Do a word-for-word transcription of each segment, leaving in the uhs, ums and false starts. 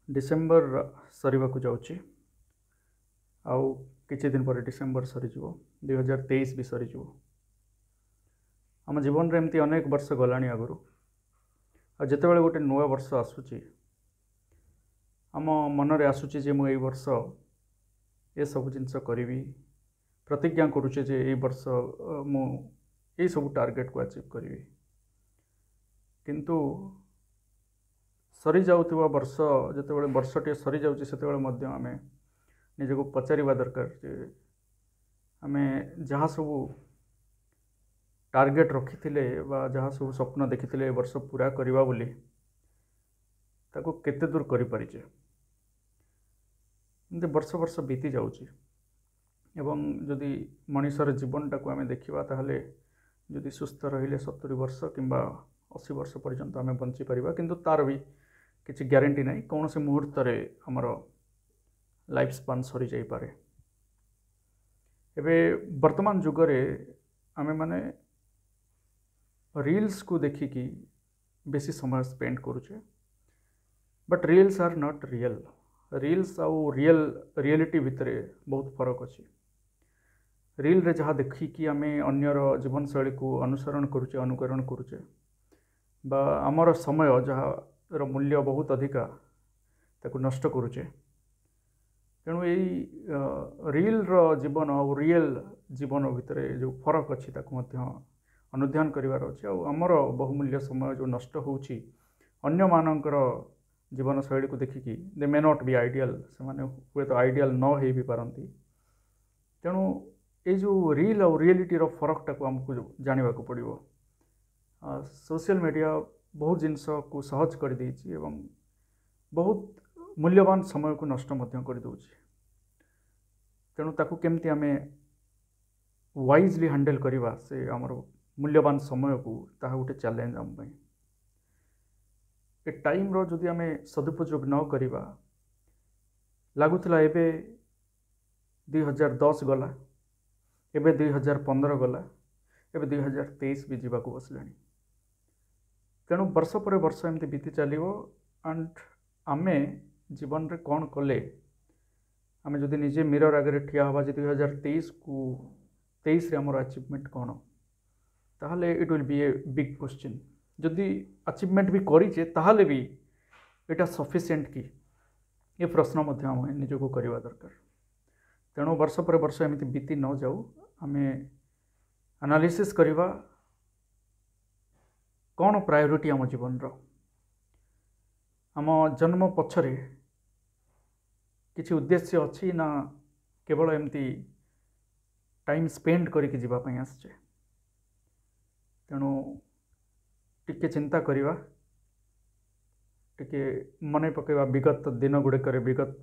December ସରିବାକୁ ଯାଉଛି ଆଉ କିଛି ଦିନ ପରେ ଡିସେମ୍ବର ସରିଯିବ ଦୁଇହଜାର ତେଇଶ ବି ସରିଯିବ ଆମ ଜୀବନରେ ଏମିତି ଅନେକ ବର୍ଷ ଗଲାଣି ଆଗରୁ ଆଉ ଯେତେବେଳେ ଗୋଟେ ନୂଆ ବର୍ଷ ଆସୁଛି ଆମ ମନରେ ଆସୁଛି ଯେ ମୁଁ ଏଇ ବର୍ଷ ଏସବୁ ଜିନିଷ କରିବି ପ୍ରତିଜ୍ଞା କରୁଛେ ଯେ ଏଇ ବର୍ଷ ମୁଁ ଏଇସବୁ ଟାର୍ଗେଟକୁ ଆଚିଭ୍ କରିବି କିନ୍ତୁ ସରିଯାଉଥିବା ବର୍ଷ ଯେତେବେଳେ ବର୍ଷଟିଏ ସରିଯାଉଛି ସେତେବେଳେ ମଧ୍ୟ ଆମେ ନିଜକୁ ପଚାରିବା ଦରକାର ଯେ ଆମେ ଯାହା ସବୁ ଟାର୍ଗେଟ୍ ରଖିଥିଲେ ବା ଯାହା ସବୁ ସ୍ୱପ୍ନ ଦେଖିଥିଲେ ଏ ବର୍ଷ ପୂରା କରିବା ବୋଲି ତାକୁ କେତେ ଦୂର କରିପାରିଛେ ଏମିତି ବର୍ଷ ବର୍ଷ ବିତି ଯାଉଛି ଏବଂ ଯଦି ମଣିଷର ଜୀବନଟାକୁ ଆମେ ଦେଖିବା ତାହେଲେ ଯଦି ସୁସ୍ଥ ରହିଲେ ସତୁରି ବର୍ଷ କିମ୍ବା ଅଶୀ ବର୍ଷ ପର୍ଯ୍ୟନ୍ତ ଆମେ ବଞ୍ଚିପାରିବା କିନ୍ତୁ ତା'ର ବି କିଛି ଗ୍ୟାରେଣ୍ଟି ନାହିଁ କୌଣସି ମୁହୂର୍ତ୍ତରେ ଆମର ଲାଇଫ୍ ସ୍ପାନ୍ ସରିଯାଇପାରେ ଏବେ ବର୍ତ୍ତମାନ ଯୁଗରେ ଆମେମାନେ ରିଲ୍ସକୁ ଦେଖିକି ବେଶୀ ସମୟ ସ୍ପେଣ୍ଡ କରୁଛେ but reels are not real reels ଆଉ ରିଏଲ୍ ରିଏଲିଟି ଭିତରେ ବହୁତ ଫରକ ଅଛି ରିଲ୍ରେ ଯାହା ଦେଖିକି ଆମେ ଅନ୍ୟର ଜୀବନଶୈଳୀକୁ ଅନୁସରଣ କରୁଛେ ଅନୁକରଣ କରୁଛେ ବା ଆମର ସମୟ ଯାହାର ମୂଲ୍ୟ ବହୁତ ଅଧିକା ତାକୁ ନଷ୍ଟ କରୁଛେ ତେଣୁ ଏଇ ରିଲ୍ର ଜୀବନ ଆଉ ରିଏଲ୍ ଜୀବନ ଭିତରେ ଯେଉଁ ଫରକ ଅଛି ତାକୁ ମଧ୍ୟ ଅନୁଧ୍ୟାନ କରିବାର ଅଛି ଆଉ ଆମର ବହୁମୂଲ୍ୟ ସମୟ ଯେଉଁ ନଷ୍ଟ ହେଉଛି ଅନ୍ୟମାନଙ୍କର ଜୀବନଶୈଳୀକୁ ଦେଖିକି they may not be ideal ସେମାନେ ହୁଏତ ଆଇଡ଼ିଆଲ୍ ନ ହେଇ ବି ପାରନ୍ତି ତେଣୁ ଏଇ ଯେଉଁ ରିଲ୍ ଆଉ ରିଏଲିଟିର ଫରକଟାକୁ ଆମକୁ ଜାଣିବାକୁ ପଡ଼ିବ ସୋସିଆଲ ମିଡ଼ିଆ ବହୁତ ଜିନିଷକୁ ସହଜ କରିଦେଇଛି ଏବଂ ବହୁତ ମୂଲ୍ୟବାନ ସମୟକୁ ନଷ୍ଟ ମଧ୍ୟ କରିଦେଉଛି ତେଣୁ ତାକୁ କେମିତି ଆମେ ୱାଇଜଲି ହ୍ୟାଣ୍ଡେଲ୍ କରିବା ସେ ଆମର ମୂଲ୍ୟବାନ ସମୟକୁ ତାହା ଗୋଟେ ଚ୍ୟାଲେଞ୍ଜ ଆମ ପାଇଁ ଏ ଟାଇମ୍ର ଯଦି ଆମେ ସଦୁପଯୋଗ ନ କରିବା ଲାଗୁଥିଲା ଏବେ ଦୁଇ ହଜାର ଦଶ ଗଲା ଏବେ ଦୁଇ ହଜାର ପନ୍ଦର ଗଲା ଏବେ ଦୁଇ ହଜାର ତେଇଶ ବି ଯିବାକୁ ବସିଲାଣି ତେଣୁ ବର୍ଷ ପରେ ବର୍ଷ ଏମିତି ବିତି ଚାଲିବ ଆଣ୍ଡ ଆମେ ଜୀବନରେ କ'ଣ କଲେ ଆମେ ଯଦି ନିଜେ ମିରର ଆଗରେ ଠିଆ ହେବା ଯେ ଦୁଇ ହଜାର ତେଇଶକୁ ତେଇଶରେ ଆମର ଆଚିଭମେଣ୍ଟ କ'ଣ ତାହେଲେ it will be a big question ଯଦି ଆଚିଭମେଣ୍ଟ ବି କରିଛେ ତାହେଲେ ବି ଏଇଟା ସଫିସିଏଣ୍ଟ କି ଏ ପ୍ରଶ୍ନ ମଧ୍ୟ ଆମେ ନିଜକୁ କରିବା ଦରକାର ତେଣୁ ବର୍ଷ ପରେ ବର୍ଷ ଏମିତି ବିତି ନ ଯାଉ ଆମେ ଆନାଲିସିସ୍ କରିବା କ'ଣ ପ୍ରାୟୋରିଟି ଆମ ଜୀବନର ଆମ ଜନ୍ମ ପଛରେ କିଛି ଉଦ୍ଦେଶ୍ୟ ଅଛି ନା କେବଳ ଏମିତି ଟାଇମ୍ ସ୍ପେଣ୍ଡ କରିକି ଯିବା ପାଇଁ ଆସିଛେ ତେଣୁ ଟିକେ ଚିନ୍ତା କରିବା ଟିକେ ମନେ ପକାଇବା ବିଗତ ଦିନ ଗୁଡ଼ିକରେ ବିଗତ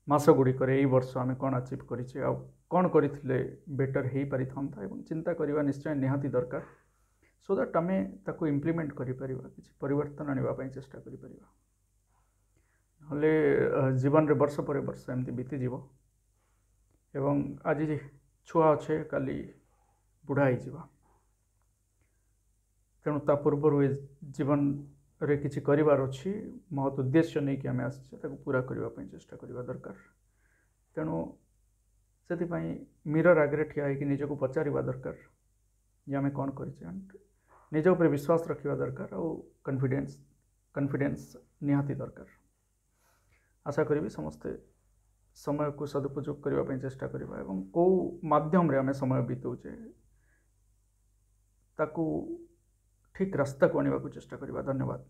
ମାସ ଗୁଡ଼ିକରେ ଏଇ ବର୍ଷ ଆମେ କ'ଣ ଆଚିଭ୍ କରିଛେ ଆଉ କ'ଣ କରିଥିଲେ ବେଟର୍ ହେଇପାରିଥାନ୍ତା ଏବଂ ଚିନ୍ତା କରିବା ନିଶ୍ଚୟ ନିହାତି ଦରକାର ସୋ that ଆମେ ତାକୁ ଇମ୍ପ୍ଲିମେଣ୍ଟ କରିପାରିବା କିଛି ପରିବର୍ତ୍ତନ ଆଣିବା ପାଇଁ ଚେଷ୍ଟା କରିପାରିବା ନହେଲେ ଜୀବନରେ ବର୍ଷ ପରେ ବର୍ଷ ଏମିତି ବିତିଯିବ ଏବଂ ଆଜି ଛୁଆ ଅଛେ କାଲି ବୁଢ଼ା ହେଇଯିବା ତେଣୁ ତା ପୂର୍ବରୁ ଏ ଜୀବନରେ କିଛି କରିବାର ଅଛି ମହତ୍ ଉଦ୍ଦେଶ୍ୟ ନେଇକି ଆମେ ଆସିଛେ ତାକୁ ପୁରା କରିବା ପାଇଁ ଚେଷ୍ଟା କରିବା ଦରକାର ତେଣୁ ସେଥିପାଇଁ ମିରର ଆଗରେ ଠିଆ ହେଇକି ନିଜକୁ ପଚାରିବା ଦରକାର ଯେ ଆମେ କ'ଣ କରିଛେ ନିଜ ଉପରେ ବିଶ୍ୱାସ ରଖିବା ଦରକାର ଆଉ କନଫିଡେନ୍ସ କନଫିଡେନ୍ସ ନିହାତି ଦରକାର ଆଶା କରିବି ସମସ୍ତେ ସମୟକୁ ସଦୁପଯୋଗ କରିବା ପାଇଁ ଚେଷ୍ଟା କରିବା ଏବଂ କେଉଁ ମାଧ୍ୟମରେ ଆମେ ସମୟ ବିତାଉଛେ ତାକୁ ଠିକ୍ ରାସ୍ତାକୁ ଆଣିବାକୁ ଚେଷ୍ଟା କରିବା ଧନ୍ୟବାଦ